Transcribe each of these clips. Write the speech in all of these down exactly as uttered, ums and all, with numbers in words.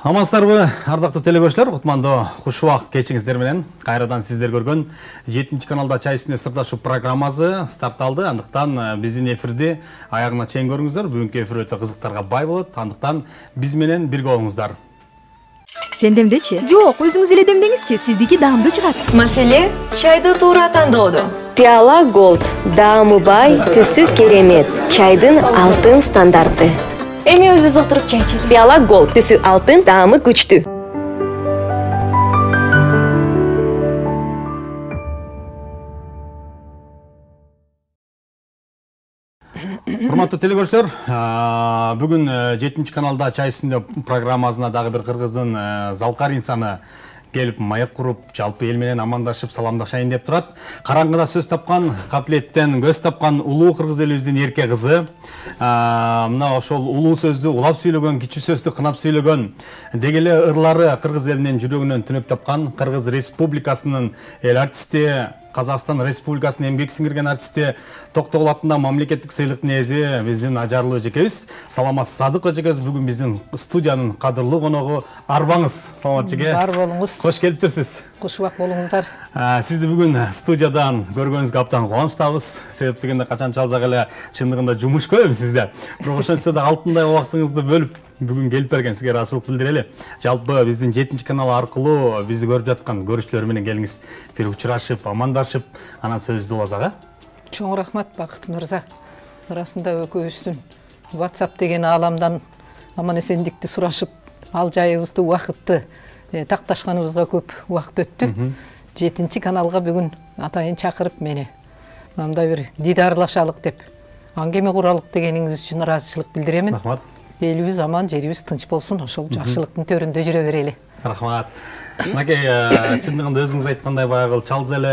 Амансыздарбы, ардактуу телекөрүүчүлөр, кутмандуу хуш убак кечиңиздер менен кайрадан сиздер көргөн жетинчи каналда чай үстүнө сырдашу программасы старт алды. Андыктан биздин эфирди аягына чейин көрүңүздөр. Бүгүнкү эфир өтө кызыктарга бай болот. Андыктан биз менен бирге болуңуздар. Сен демдечи? Жок, өзүңүз эле демдеңизчи, сиздики даамдуу чыгат. Маселе чайды туура тандоодо. Пиала Gold, даамы бай, түсү керемет. Чайдын алтын стандарты. Эми өзү зоктуруп чай ичели. Пиала Gold, түсү алтын, даамы күчтүү. Урматтуу телекөрүүчүлөр, бүгүн жетинчи каналда чай үстүндө программасына дагы бир кыргыздын залкар инсаны келип маяк куруп, жалпы эл менен амандашып, саламдашайын деп турат. Караңгыда сөз тапкан, капилеттен көз тапкан улуу кыргыз элибиздин эрке кызы. Мына ошол улуу сөздү улап сүйлөгөн, кичи сөздү кынап сүйлөгөн, деги эле ырлары кыргыз элинин жүрөгүнөн түнөк тапкан Кыргыз Республикасынын эл артисти, Казакстан Республикасынын эмгек сиңирген артисти Токтогул атында мамлекеттик сыйлыктын ээси биздин ажарлуу эжекебиз Саламат Садык эжекебиз бүгүн биздин студиянын кадырлуу коногу. Арбаңыз, Саламат эжеке. Бар болуңуз. Кош келиптирсиз. Куш убак болуңуздар. Сизди бүгүн студиядан көргөнүзгө абдан кубанычтабыз. Себеп дегенде качан чалсак эле чындыгында жумуш көп эми сизде. Бирок ошентсе да алтындай убактыңызды бөлүп бүгүн келип берген сизге ыраазычылык билдирели. Жалпы биздин жетинчи канал аркылуу бизди көрүп жаткан көрүүчүлөр менен келиңиз, бир учурашып, амандашып, анан сөздү уласак, а? Чоң рахмат, Бакыт мырза. Арасында экөөбүздүн WhatsApp деген ааламдан аман эсендикти сурашып, ал жайыбызды, убакытты такташканыбызга көп убакыт өттү. жетинчи каналга бүгүн атайын чакырып мени мындай бир дидарлашалык деп аңгеме куралык дегениңиз үчүн ыраазычылык билдиремин. Рахмат. Элибиз аман, жерибиз тынч болсун, ошол жакшылыктын төрүндө жүрө берели. Рахмат. Мынакей чындыгында өзүңүз айткандай баягы чалз эле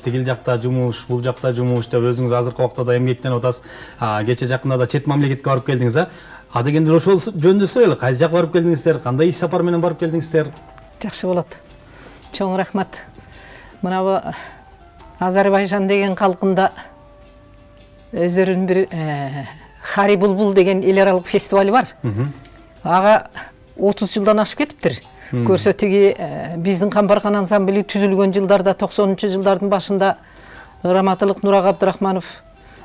тигил жакта жумуш, бул жакта жумуш деп өзүңүз азыркы убакта да эмгектенип атасыз. Кече жакында да чет мамлекетке барып келдиңиз, а? А дегенде ошол жөнүндө сөйлөлө. Кайсы жакка барып келдиңиздер? Кандай иш сапар менен барып келдиңиздер? Жакшы болот. Чоң рахмат. Мына Азербайжан деген калкында өздөрүнүн бир Хари Булбул деген эл аралык фестиваль бар. Ага отуз жылдан ашып кетиптир. Көрсө тиги биздин Камбаркан ансамбли түзүлгөн жылдарда, токсонунчу жылдардын башында Раматылык Нурак Абдрахманов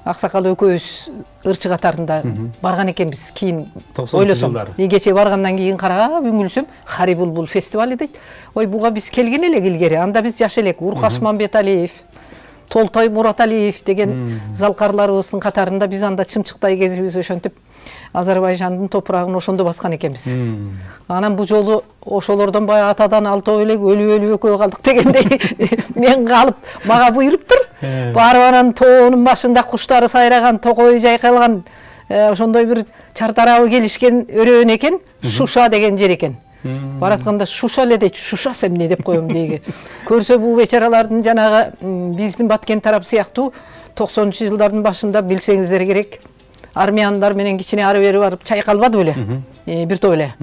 аксакал экөөбүз ырчы катарында барган экенбиз. Кийин ойлосом, кече баргандан кийин карап үңүлсөм, Хари Булбул фестивали дейт. Ой, буга биз келген элек илгери. Анда биз жаш элек. Уркаш Мамбеталиев, Толтой Мураталиев деген залкарларыбыздын катарында биз анда чымчыктай кезибиз ошентип Азербайжандын топурагын ошондо баскан экенбиз. Анан бу жолу ошолордон баягы атадан алтоо элек өлүп өлүп экөө калдык дегендей мен калып мага буйруптур. Барып анан тоонун башында куштары сайраган, токой жайкалган ошондой бир чартарабы келишкен өрөөн экен, Шуша деген жер экен. Баратканда Шуша эле дейт, Шушас эмне деп коем дейги. Көрсө бу бечаралардын жанагы биздин Баткен тарап сыяктуу токсонунчу жылдардын башында билсеңиздер керек, армияндар менен кичине ары бери барып чайкалбады беле? Бир топ эле.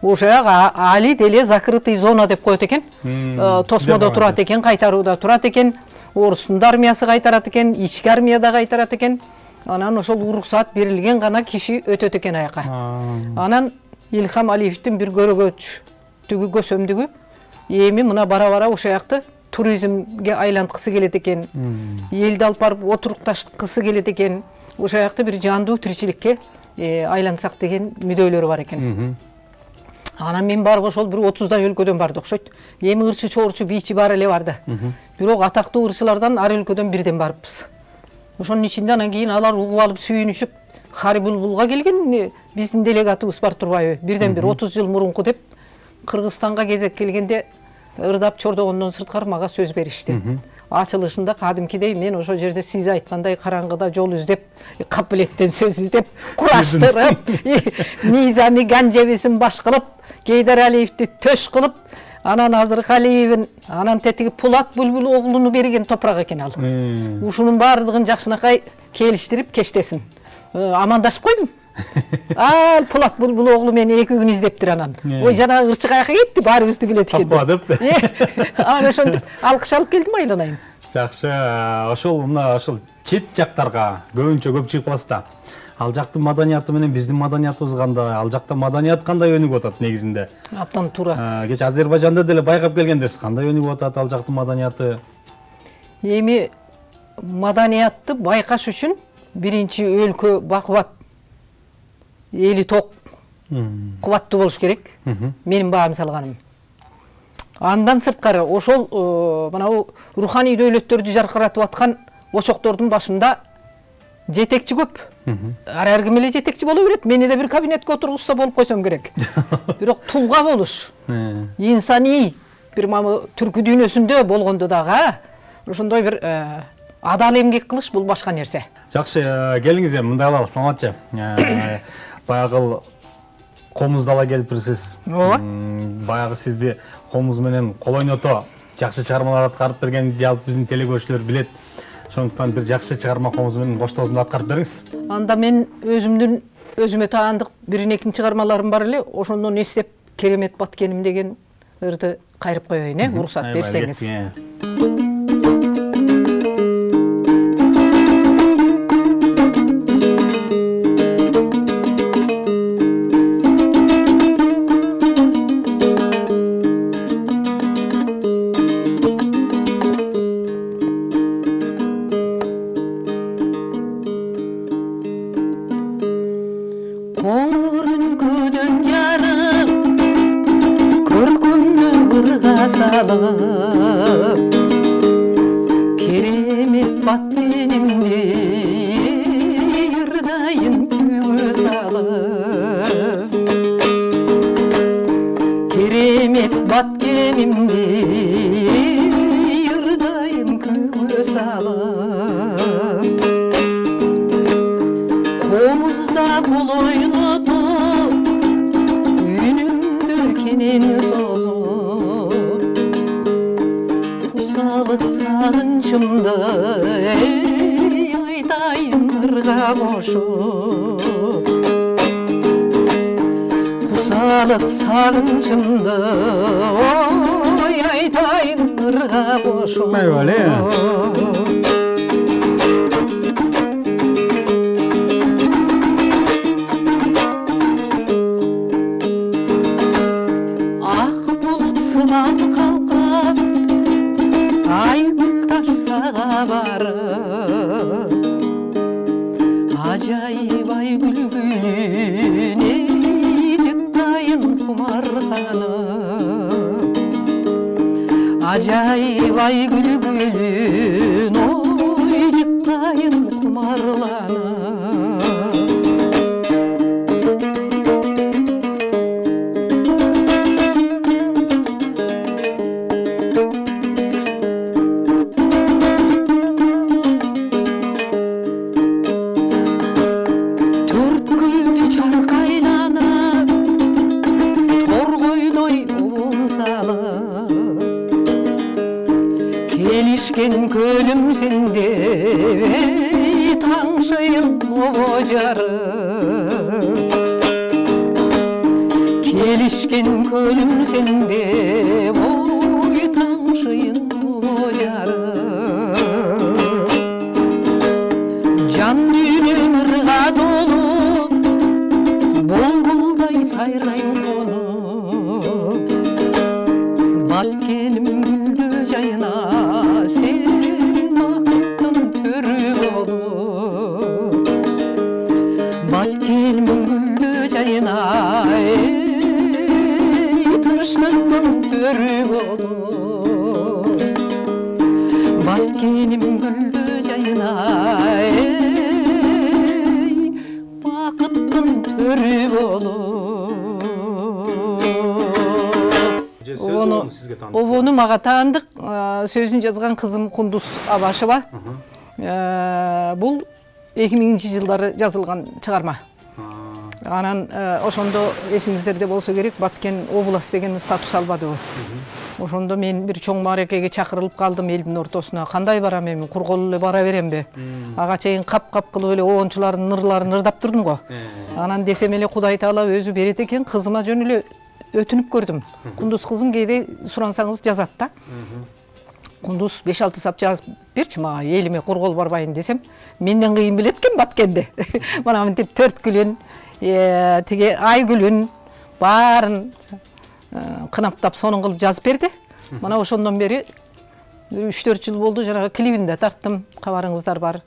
Ошо али деле закрытый зона деп коет экен. Тосмодо турат экен, кайтарууда турат экен. Орустун да армиясы кайтарат экен, ички армия да кайтарат экен. Анан ошол уруксаат берилген гана киши өтөт экен аяка. Анан Илхам Алиевдин бир көрөгөчтүгү, көсөмдүгү эми мына бара-бара ошо жакты туризмге айланткысы келет экен. Элди алып барып отурукташкысы келет экен. Ошо жакты бир жандуу тиричиликке айлансак деген мүдөлөрү бар экен. Анан мен барып ошол бир отуздай өлкөдөн барды окшойт. Эми ырчы чоорчу бийчи бар эле барды. Бирок атактуу ырчылардан ар өлкөдөн бирден барыппыз. Ошонун ичинде анан кийин алар угуп алып сүйүнүшүп Хари Булбулга келген биздин делегатыбыз бар турбайбы? Бирден бир отуз жыл мурунку деп Кыргызстанга кезек келгенде ырдап чордогондон сырткары мага сөз беришти. Ачылышында кадимкидей мен ошол жерде сиз айткандай караңгыда жол издеп, капилеттен сөз издеп, кураштырып, Низами Ганжебисин баш кылып, Гейдар Алиевди төш кылып, анан Азыркалиевин, анан тетиги Пулат Булбул оглуну берген топурак экен ал. Ушунун баардыгын жакшынакай келиштирип кештесин. Амандашып койдум. Ал Пулат Булбул оглу мени эки күн издептир анан. Ой, жана ырчы каяка кетти, баарыбызды билет экен. Апа деп. Анан ошентип алкыш алып келдим айланайын. Жакшы, ошол мына ошол чет жактарга көбүнчө көп чыгып каласыз да. Ал жактын маданияты менен биздин маданиятыбыз кандай, ал жакта маданият кандай өнүгүп атат негизинде? Абдан туура. Кечээ Азербайжанда деле байкап келгендерсиз, кандай өнүгүп атат ал жактын маданияты? Эми маданиятты байкаш үчүн биринчи өлкө бакубат, эли ток, кубаттуу болуш керек. Менин баам салганым. Андан сырткары ошол мынабу руханий дөөлөттөрдү жаркыратып аткан очоктордун башында жетекчи көп. Ар ким эле жетекчи боло берет. Мени да бир кабинетке отургузса болуп койсом керек. Бирок тулга болуш, инсаний бир мамы түркү дүйнөсүндө болгондо дагы ошондой бир адал эмгек кылыш бул башка нерсе. Жакшы, келиңиз эми мындай кылалы, саламатчы. Баягы комузду ала келипсиз. Ооба. Баягы сизди комуз менен кол ойното жакшы чыгармалар аткарып берген жалпы биздин телекөрүүчүлөр билет. Ошондуктан бир жакшы чыгарма комуз менен коштоосунду аткарып бериңиз. Анда мен өзүмдүн өзүмө таандык бир некин чыгармаларым бар эле, ошондон эстеп керемет баткеним деген ырды кайрып коеюн, э, уруксат берсеңиз. Керемет баткенимди ырдайын күйгө салып, керемет баткенимди ырдайын күйгө салып, комузда кол ойнотуп үнүмдү кенен созуп, кусалык сагынчымды айтайын ырга кошуп, кусалык сагынчымды ой айтайын ырга кошуп. Ак булут сыман калкып, айгүл ташсага барып, ажайып айгүл гүлүнө жыттайын кумарганып, ажайып айгүл гүлүн ой жыттайын кумарланып. Келишкен көлүм сенде таңшыйын обо жарып, келишкен көлүм сенде ой таңшыйын обо жарып, жан дүйнөм ырга толу булбулдай сайрайм конуп, баткеним гүлдү жайына sen бакыттын төрү болуп, баткеним гүлдү жайына тынчтыктын төрү болуп, баткеним гүлдү жайына бакыттын төрү болуп. Обону мага таандык, сөзүн жазган кызым Кундуз Абашева. Бул эки миңинчи жылдары жазылган чыгарма. Анан ошондо эсиңиздерде болсо керек, Баткен область деген статус албадыбы. Ошондо мен бир чоң мааракеге чакырылып калдым элдин ортосуна. Кандай барам эми, кургол эле бара беремби? Ага чейин кап-кап кылып эле оончулардын ырларын ырдап турдум го. Анан десем эле Кудай Таала өзү берет экен, кызыма жөн эле өтүнүп көрдүм. Кундуз кызым кээде сурансаңыз жазат да. Кундуз беш алты сап жазып берчи мага, элиме кургол барбайын десем, менден кыйын билет экен баткенди. Мына мынтип төрт күлүн, тиги ай күлүн баарын кынаптап сонун кылып жазып берди. Мына ошондон бери үч төрт жыл болду, жанагы клибин да тарттым, кабарыңыздар бар.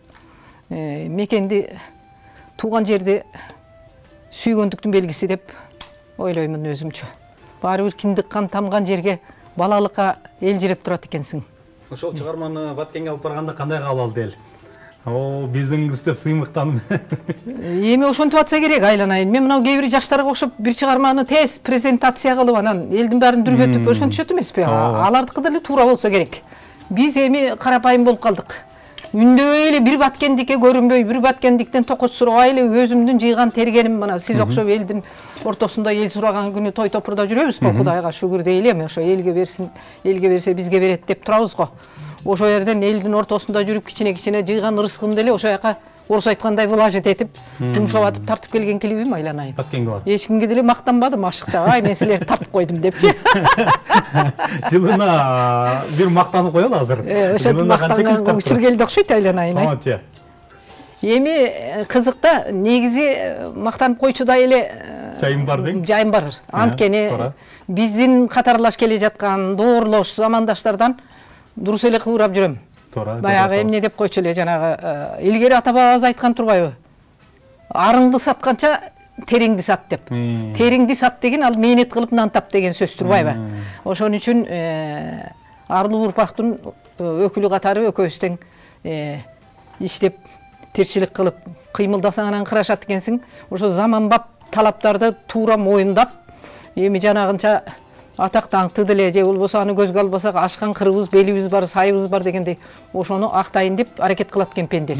Мекенди, тууган жерди сүйгөндүктүн белгиси деп ойлоймун өзүмчө. Баары бир киндик кан тамган жерге балалыкка элжиреп турат экенсиң. Ошол чыгарманы Баткенге алып барганда кандай кабыл алды эл? О, биздин кыз деп сыймыктанып. Эми ошентип атса керек, айланайын. Мен мына кээ бир жаштарга окшоп бир чыгарманы тез презентация кылып, анан элдин баарын дүрбөтүп ошентишет эмеспи? Алардыкы деле туура болсо керек. Биз эми карапайым болуп калдык. Үндөбөй эле бир Баткендикке көрүнбөй, бир Баткендиктен токоч сурабай эле өзүмдүн жыйган тергеним, мына сиз окшоп элдин ортосунда эл сураган күнү той топурда жүрөбүз го, Кудайга шүгүр дейли эми, ошо элге берсин, элге берсе бизге берет деп турабыз го. Ошо жерден элдин ортосунда жүрүп кичине-кичине жыйган ырыскымды эле ошо жака орус айткандай влажить этип, жумшап атып тартып келген клибим, айланайын. Баткенге бар. Эч кимге деле мактанбадым ашыкча, ай мен силерди тартып койдум депчи. Жылына бир мактанып коелу азыр. Ошентип мактанган учур келди окшойт, айланайын. Таманчы. Эми кызыкта негизи мактанып койчудай эле жайым бар дең? Жайым бар. Анткени биздин катарлаш келе жаткан доорлош замандаштардан дурус эле кыбырап жүрөм. Баягы эмне деп койчу эле, жанагы илгери ата бабабыз айткан турбайбы? Арыңды сатканча териңди сат деп. Териңди сат деген ал мээнет кылып нан тап деген сөз турбайбы? Ошон үчүн арлуу урпактын өкүлү катары экөөбүз тең иштеп, тирчилик кылып, кыймылдасаң анан кырашат экенсиң. Ошо заманбап талаптарды туура моюндап, эми жанагынча атак даңкты деле же болбосо аны көзгө албасак ашкан кырыбыз, белибиз бар, сайыбыз бар дегендей ошону актайын деп аракет кылат экен пендес.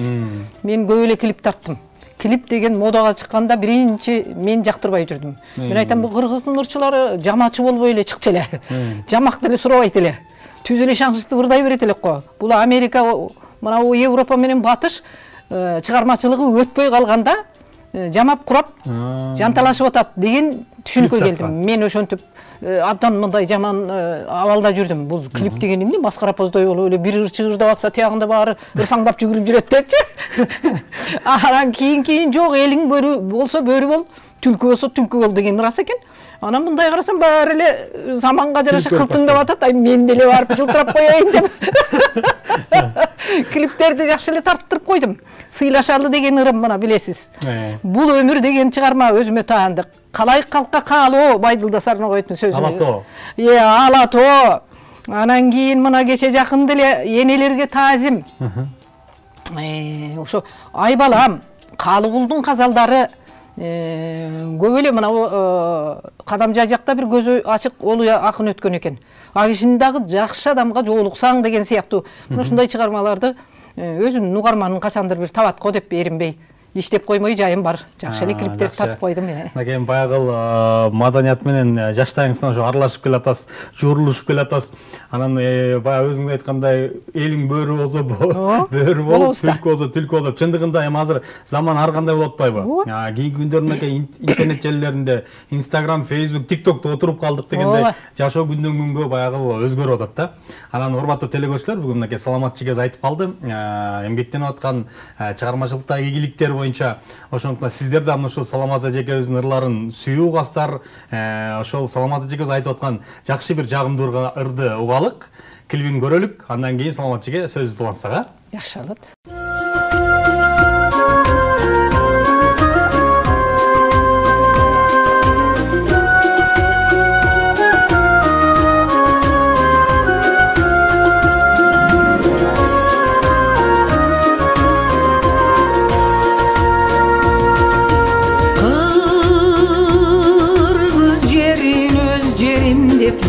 Мен көп эле клип тарттым. Клип деген модага чыкканда биринчи мен жактырбай жүрдүм. Мен айтам, бул кыргыздын ырчылары жамачы болбой эле чыкчу эле. Жамак деле сурабайт эле. Түз эле шаңшытып ырдай берет элек го. Бул Америка, мына Европа менен батыш чыгармачылыгы өтпөй калганда жамап курап жанталашып атат деген түшүнүккө келдим. Мен ошентип абдан мындай жаман абалда жүрдүм. Бул клип деген эмне, маскара поздой болуп эле бир ырчы ырдап атса, тиягында баары ырсаңдап жүгүрүп жүрөт депчи. Анан кийин-кийин жок, элиң бөрү болсо бөрү бол, түлкү болсо түлкү бол деген ырас экен. Анан мындай карасам баары эле заманга жараша кылтыңдап атат. Ай мен деле барып жылтырап коеюн деп. Клиптерди жакшы эле тарттырып койдум. Сыйлашалы деген ырым, мына билесиз. Бул өмүр деген чыгарма өзүмө таандык. Калай калкка каалоо, Байдылда Сарногоевдун сөзү. Алато. Э, алато. Анан кийин мына кече жакын деле энелерге таазим. Э, ошо ай балам, Калыгулдун казалдары көп эле мына Кадамжай жакта бир көзү ачык олуу акын өткөн экен. А кишини дагы жакшы адамга жоолуксаң деген сыяктуу мына ушундай чыгармаларды өзүмдүн угарманым качандыр бир табат го деп эринбей иштеп коймой жайым бар. Жакшы эле клиптерди тартып койдум. Мына баягы маданият менен жаштайыңыздан ошо аралашып келатасыз, журулушуп келатасыз. Анан баягы өзүңүз айткандай элиң бөрү болсо бөрү болуп, түлкү болсо түлкү болуп. Чындыгында эми азыр заман ар кандай болуп атпайбы? Кийинки күндөрүнөн интернет желилеринде Instagram, Facebook, TikTokто отуруп калдык дегендей жашоо күндөн күнгө баягы өзгөрүп атат да. Анан урматтуу телекөрүүчүлөр, бүгүн мынакей саламат чигез айтып калды. Эмгектенип аткан чыгармачылыктагы ийгиликтер боюнча, ошондуктан сиздер да мына ушул Саламат эжекебиздин ырларын сүйүү угасыздар. Ошол Саламат эжекебиз айтып аткан жакшы бир жагымдуу ырды угалык, клибин көрөлүк, андан кийин Саламат эжеге сөз улансак, а? Жакшы болот.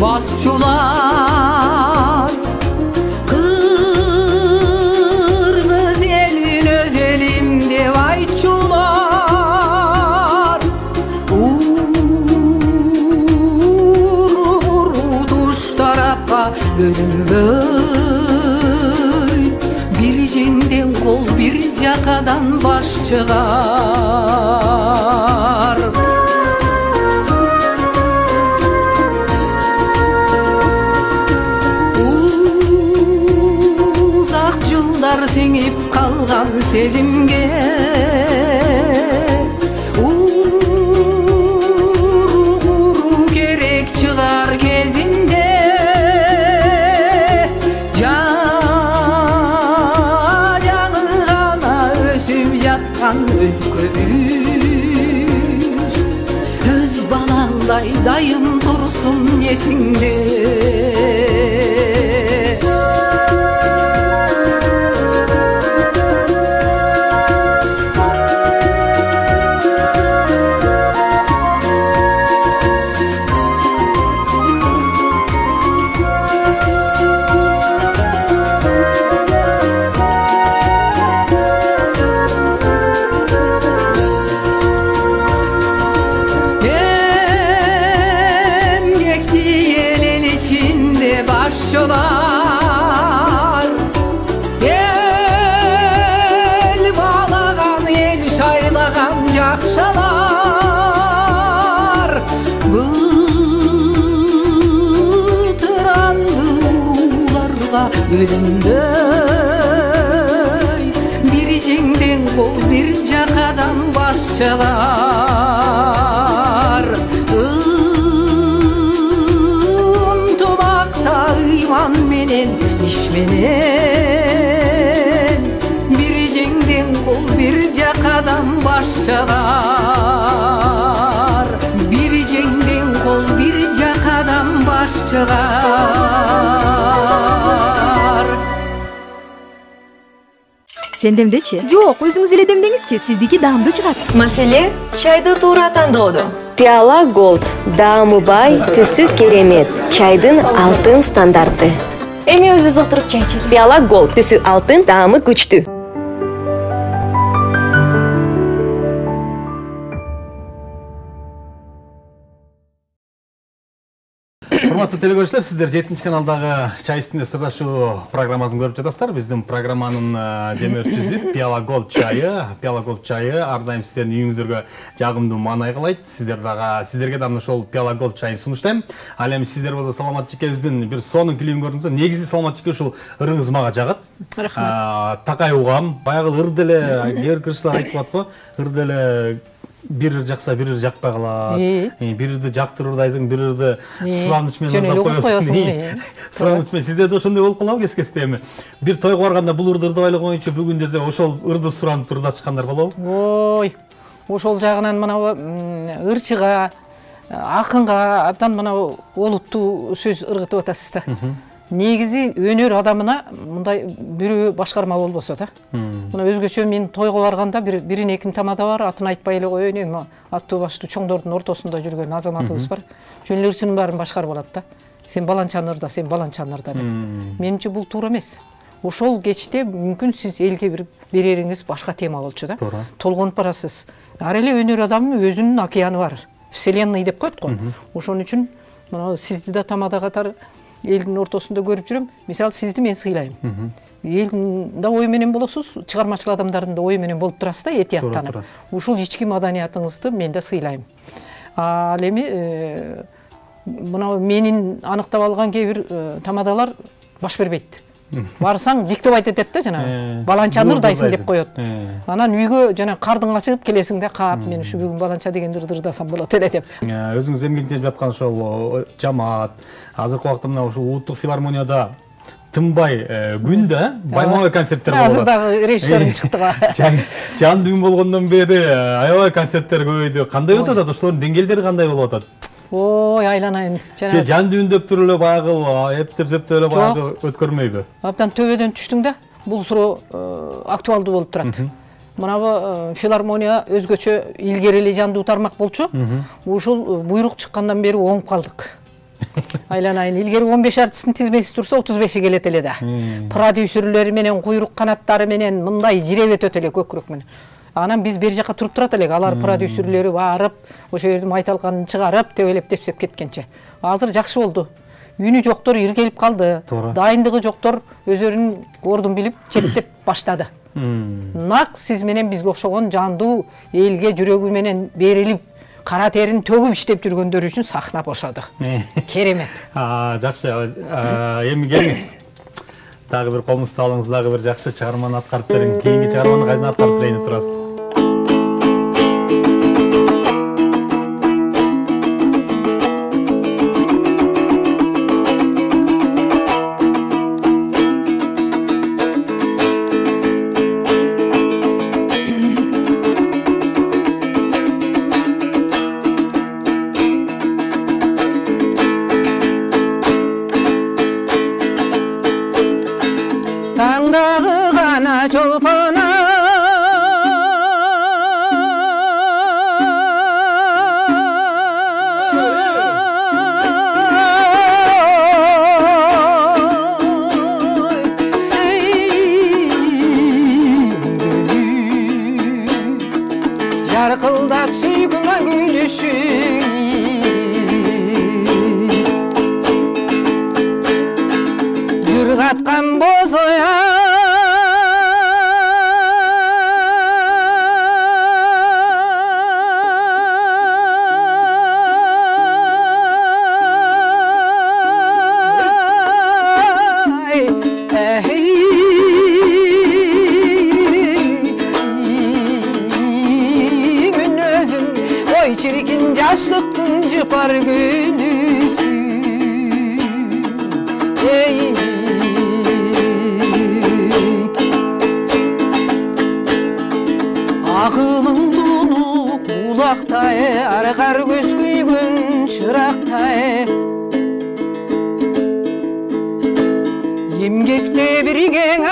Basçular Kırgız elin öz elimde vayçular Uğur tuş tarafka bölünböy Bir jengden kol bir jakadan baş çıgar сиңип калган сезимге уру керек чыгар кезинде өлкөбүз өз балаңдай дайым турсун эсиңде. Başçılar el bağlagan, el şaylagan jakşalar bıtırandı urularga bölünböy bir jеңден кол bir жакадан başçılar iman menen iş menen bir jеңден kol bir jakadan başçılar bir jеңден kol bir jakadan başçılar. Сендемдечи? Жок, өзүңүз эле демдеңизчи, сиздики даамдуу чыгат. Маселе чайды туура тандоодо. Пиала Gold даамы бай, түсү керемет. Чайдын алтын стандарты. Эми өзүңүз отуруп чай ичели. Пиала Gold түсү алтын, даамы күчтүү. Урматтуу телекөрүүчүлөр, сиздер жетинчи каналдагы чай үстүндө сырдашуу программасын көрүп жатасыздар. Биздин программанын демөөрчүсү Пиала Gold чайы. Пиала Gold чайы ар дайым сиздердин үйүңүздөргө жагымдуу маанай кылайт. Сиздер дагы сиздерге дагы ошол Пиала Gold чайын сунуштайм. Ал эми сиздер болсо Саламат Жекебиздин бир сонун клибин көрдүңүздөр. Негизи Саламат Жеке ушул ырыңыз мага жагат. Рахмат. Такай угам. Баягы ыр деле кээ бир кыргызчылар айтып атат го. Ыр деле бир ыр жакса бир ыр жакпай калат. Бир ырды жактырып ырдайсың, бир ырды сураныч менен ырдап коесуң. Сураныч менен сизде да ошондой болуп калабы кес-кесте эми? Бир тойго барганда бул ырды ырдабайлы коеюнчу бүгүн десе ошол ырды суранып ырдатышкандар болобу? Ой, ошол жагынан мына ырчыга, акынга абдан мына олуттуу сөз ыргытып атасыз да. Негизи өнөр адамына мындай бирөө башкарма болбосо да. Мына өзгөчө мен тойго барганда бир бирин экин тамада бар, атын айтпай эле коеюн, эми аттуу баштуу чоңдордун ортосунда жүргөн азаматыбыз бар. Жөн эле ырчынын баарын башкарып алат да. Сен баланчаны ырда, сен баланчаны ырда деп. Менимче бул туура эмес. Ошол кечте мүмкүн сиз элге бир берериңиз башка тема болчу да. Толгонуп барасыз. Ар эле өнөр адамынын өзүнүн океаны бар. Вселенная деп коет го. Ошон үчүн мына сизди да тамада катары элдин ортосунда көрүп жүрөм. Мисалы сизди мен сыйлайм. Элдин да ой менен болосуз, чыгармачыл адамдардын да ой менен болуп турасыз да, этияттанып. Ушул ички маданиятыңызды мен да сыйлайм. Ал эми мына менин аныктап алган кээ бир тамадалар баш бербейт. Барсаң диктеп айтып атат да, жана баланчаны ырдайсың деп коет. Анан үйгө жана кардыңга чыгып келесиң да, кап мен ушу бүгүн баланча дегенди ырдасам болот эле деп. Өзүңүз эмгектенип жаткан ошол жамаат, азыркы убакта мына ушул улуттук филармонияда тынбай күн да байма-бай концерттер болот. Азыр дагы режиссерим чыкты го. Жан дүйүн болгондон бери аябай концерттер көбөйдү. Кандай өтүп атат? Ошолордун деңгээлдери кандай болуп атат? Ой, айланайын. Же жан дүйүн деп туруп эле баягы эптеп-септеп эле баягы өткөрмөйбү? Абдан төбөдөн түштүң да. Бул суроо актуалдуу болуп турат. Мына филармония өзгөчө илгери эле жандуу тармак болчу. Ушул буйрук чыккандан бери оңуп калдык. Айланайын. Илгери он беш артисттин тизмеси турса отуз беши келет эле да. Продюсерлери менен, куйрук канаттары менен мындай жиреп өтөт эле көкүрөк менен. Анан биз бер жака туруп турат элек, алар продюсерлери барып, ошол жердин майталганын чыгарып, тебелеп тепсеп кеткенче. Азыр жакшы болду. Үнү жоктор иргелип калды. Дайындыгы жоктор өздөрүнүн ордун билип, четтеп баштады. Нак сиз менен бизге окшогон жандуу элге жүрөгү менен берилип, кара терин төгүп иштеп жүргөндөр үчүн сахна бошоду. Керемет. Жакшы. Эми келиңиз. дагы бир комузталыңыз, дагы бир жакшы чыгарманы аткарып бериң. Кийинки чыгарманы кайсына аткарып берейин деп турасыз? Таңдағы ғана чолпона жарқылдап сүйкіма күйлішің жүр қатқан боз оя çirkin yaşlıktın cıpar gülüsü ey akılın donuk kulakta arkar göz güygün çırakta emgekte birigen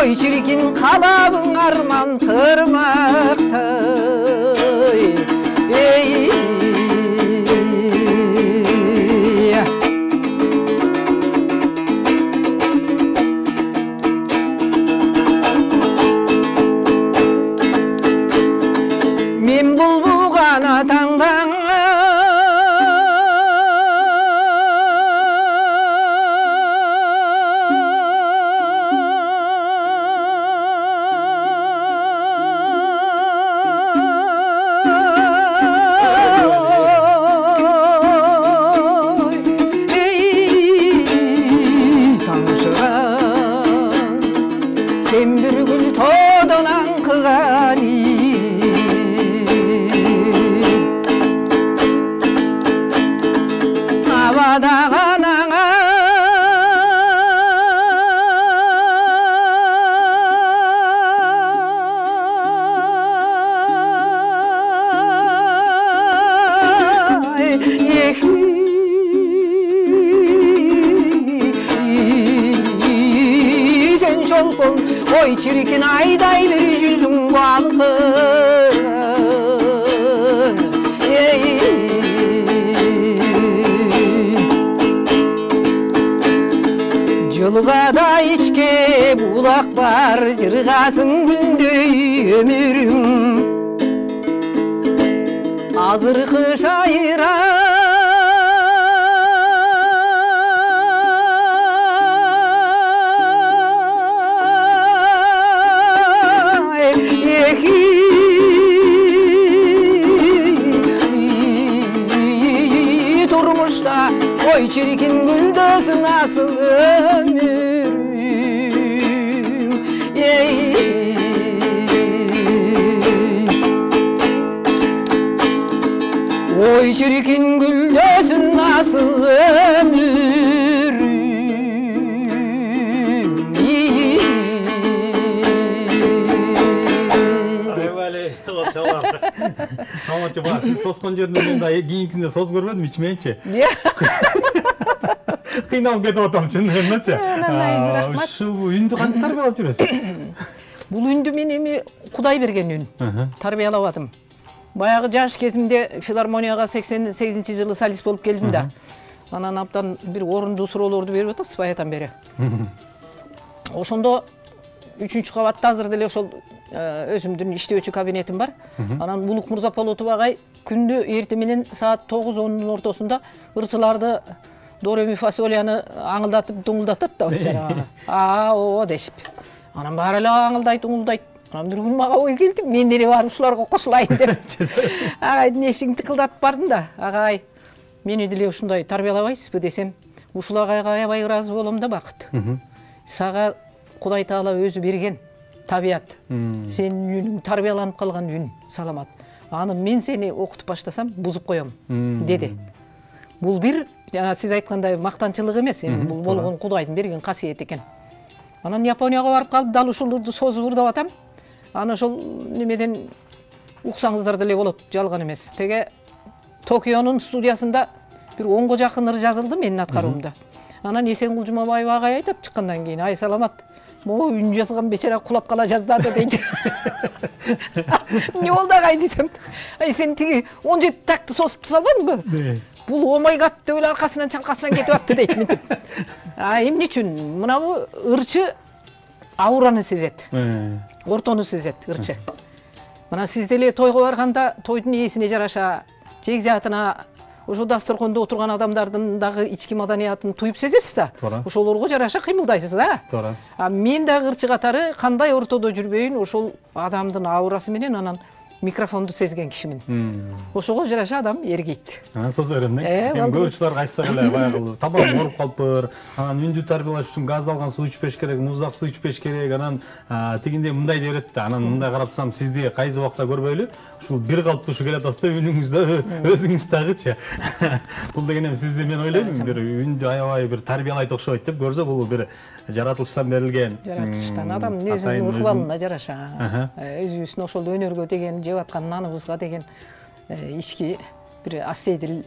Oy çirkin kalabın arman tırmakta ey men bulbul gana tangdan sen bir gül todonan kıgani havada kanana sen çolpon oy çirkin ayday bir yüzün balkın ey Jılga da içke bulak var jırgasın gündöy ömürüm azırkı şaira durmuşta oy çirkin güldözü nasıl ömürüm ey oy çirkin güldözü nasıl ömürüm ey Самачы бар, сиз соскон жеринде мен да кийинкисинде соз көрбөдүм, ичмейинчи. Кыйналып кетип атам чындыгындачы. Ушул үндү кантип тарбиялап жүрөсүз? Бул үндү мен эми Кудай берген үн. Тарбиялап атым. Баягы жаш кезимде филармонияга сексен сегизинчи жылы солист болуп келдим да. Анан абдан бир орундуу суроолорду берип атасыз баятан бери. Ошондо үчүнчү кабатта азыр деле ошол өзүмдүн иштөөчү кабинетим бар. Анан Булук Мурзаполотов агай күндү эртең менен саат тогуз ондун ортосунда ырчыларды дореми фасолияны аңылдатып дуңулдатат да жанагы. А, о дешип. Анан баары эле аңылдайт, уңулдайт. Анан бир күн мага ой келди, мен деле барып ушуларга кошулайын деп. Агайдын эшигин тыкылдатып бардым да, агай, мени деле ушундай тарбиялабайсызбы десем, ушул агайга аябай ыраазы болом да бакыт. Сага Кудай Таала өзү берген табият. Сенин үнүң тарбияланып калган үн, саламат. Аны мен сени окутуп баштасам, бузуп коем, деди. Бул бир, жана сиз айткандай мактанчылык эмес, эми бул болгон Кудайдын берген касиет экен. Анан Японияга барып калып, дал ушулурду созуп урдап атам. Аны ошол немеден уксаңыздар деле болот, жалган эмес. Теге Токионун студиясында бир онго жакын ыр жазылды менин аткаруумда. Анан Эсенгул Жумабаев агай айтат чыккандан кийин, ай саламат, могу үн жазган бечара кулап кала жаздады дейт. Эмне болду агай десем, ай сен тиги он жети такты сосуп салбадыңбы? Бул омай гат деп эле аркасынан чаңкасынан кетип атты дейт мынтип. А эмне үчүн? Мынабу ырчы аураны сезет. Ортону сезет ырчы. Мына сиз деле тойго барганда тойдун ээсине жараша, жегжатына, ошо дасторкондо отурган адамдардын дагы ички маданиятын туюп сезесиз да. Ошолорго жараша кыймылдайсыз да. Туура. А мен дагы ырчы катары кандай ортодо жүрбөйүн, ошол адамдын аурасы менен анан микрофонду сезген кишимин. Ошого жараша адам эргейт. Анан созо берем да. Эми көрүүчүлөр айтсак эле баягы табан ооруп калыптыр. Анан үндү тарбиялаш үчүн газдалган суу ичпеш керек, муздак суу ичпеш керек. Анан тигинде мындай деп берет да. Анан мындай карап турсам, сизди кайсы убакта көрбөйлү, ушул бир калыптуу ушу келе атасыз да, үнүңүздө өзүңүз дагычы. Бул деген эми сизди мен ойлойм, бир үндү аябай бир тарбиялайт окшойт деп көрсө, бул бир жаратылыштан берилген. Жаратылыштан адамдын өзүнүн ыкыбалына жараша, өзүбүздүн ошол өнөргө деген, жеп аткан наныбызга деген ички бир астейдил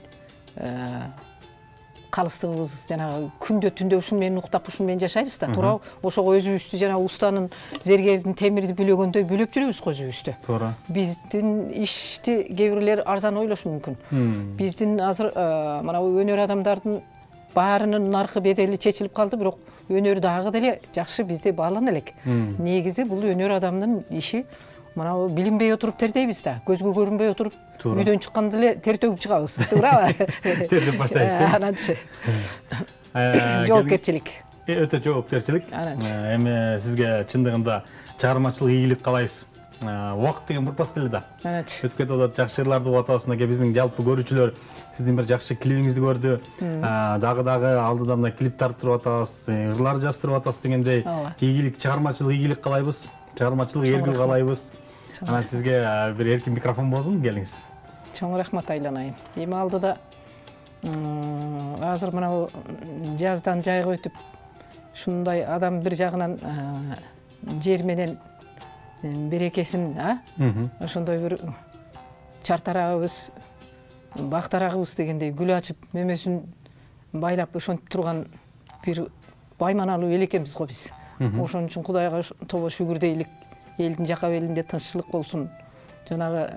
калыстыгыбыз, жанагы күндө түндө ушун менен уктап, ушун менен жашайбыз да, туура. Ошого өзүбүздү жана устанын, зергердин темирди бүлөгөндөй бүлөп жүрөбүз го өзүбүздү. Туура. Биздин ишти кээ бирлер арзан ойлошу мүмкүн. Биздин азыр мына өнөр адамдардын баарынын наркы бедели чечилип калды, бирок өнөр дагы деле жакшы бизде баалана элек. Негизи бул өнөр адамдын иши мына билинбей отуруп тердейбиз да, көзгө көрүнбөй отуруп үйдөн чыкканда эле тер төгүп чыгабыз, туурабы? Тердеп баштайсыз. Ананчы. Жоопкерчилик. Өтө жоопкерчилик. Эми сизге чындыгында чыгармачылык ийгилик каалайбыз. Убакыт деген бурпас деле да. Өтүп кетип атат, жакшы ырларды угуп атабыз. Мына биздин жалпы көрүүчүлөр сиздин бир жакшы клибиңизди көрдү. Дагы дагы алдыда мына клип тартып атабыз, ырлар жаздырып атабыз дегендей ийгилик, чыгармачылык ийгилик каалайбыз. Чыгармачылык эргүү каалайбыз. Анан сизге бир эркин микрофон болсун, келиңиз. Чоң рахмат айланайын. Эми алдыда азыр мына жаздан жайга өтүп, ушундай адам бир жагынан жер менен берекесин, ошондой бир чартарагыбыз, бактарагыбыз дегендей гүл ачып, мөмөсүн байлап ошентип турган бир байманалуу эл экенбиз го биз. Ошон үчүн Кудайга тобо шүгүр дейлик, элдин жакап элинде тынччылык болсун. Жанагы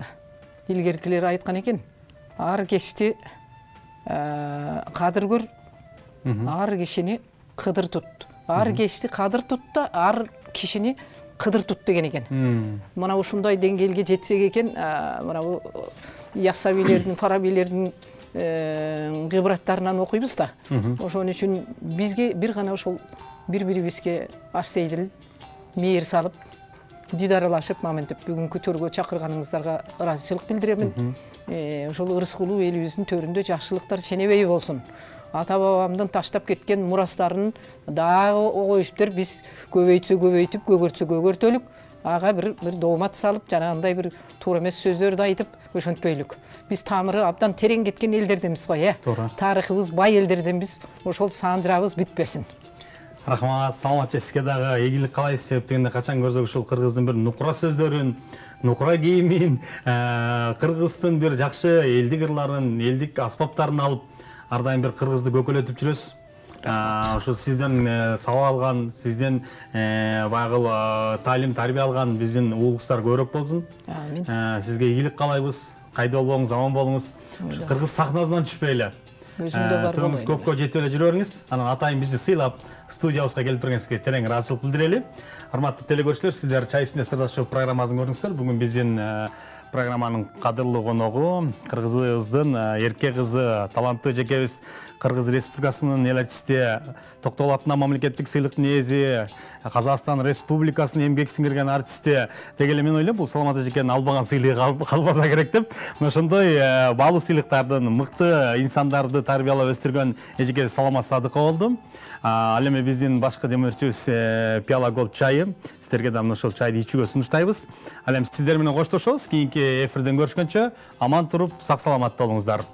илгеркилер айткан экен, ар кечти кадыр көр, ар кишини кыдыр тут. Ар кечти кадыр тут да, ар кишини кыдыр тут деген экен. Мына ушундай деңгээлге жетсек экен, мына бу Яссавилердин, Фарабилердин гыбраттарынан окуйбуз да. Ошон үчүн бизге бир гана ошол бири-бирибизге астейдил мейир салып, дидаралашып, моментип бүгүнкү төргө чакырганыңыздарга ыраазычылык билдиремин. Ошол ырыскулуу элибиздин төрүндө жакшылыктар ченебей болсун. Ата-бабамдын таштап кеткен мурастарын дагы огоюштер биз көбөйтсө көбөйтүп, көгөртсө көгөртөлүк, ага бир бир доомат салып, жанагындай бир туура эмес сөздөрдү айтып өшөнтпөйлүк. Биз тамыры абдан терең кеткен элдерденбиз го, э. Тарыхыбыз бай элдерденбиз, ошол саандырабыз бүтпөсүн. Рахмат, саламатчы, сизге дагы ийгилик каалайбыз. Себеп дегенде качан көрсөк ушул кыргыздын бир нукура сөздөрүн, нукура кийимин, кыргыздын бир жакшы элдик ырларын, элдик аспаптарын алып, ар дайым бир кыргызды көкөлөтүп жүрөсүз. Ошо сизден сабак алган, сизден баягы таалим, тарбия алган биздин уулуңуздар көбүрөөк болсун. Амин. Сизге ийгилик каалайбыз. Кайда болбоңуз, аман болуңуз. Кыргыз сахнасынан түшпөйлү. Төөңүз көпкө жетип эле жүрө бериңиз. Анан атайын бизди сыйлап, студиябызга келип бергениңизге терең ыраазычылык билдирели. Урматтуу телекөрүүчүлөр, сиздер Чай үстүндө сырдаштоо программасын көрдүңүздөр. Бүгүн биздин программанын кадырлуу коногу кыргызыбыздын эрке кызы, таланттуу жекебиз Кыргыз Республикасынын эл артисти, Токтогул атынан мамлекеттик сыйлыктын ээси, Казакстан Республикасынын эмгек сиңирген артисти. Деги эле мен ойлойм, бул Саламат эжекенин албаган сыйлыгы калбаса керек деп. Ошондой баалуу сыйлыктардын, мыкты инсандарды тарбиялап өстүргөн эжеке Саламат Садыкова болду. Ал эми биздин башкы демөөрчүбүз Пиала Голд чайы. Сиздерге да ошол чайды ичүүгө сунуштайбыз. Ал эми сиздер менен коштошобуз. Кийинки эфирден көрүшкөнчө аман туруп, сак саламатта болуңуздар.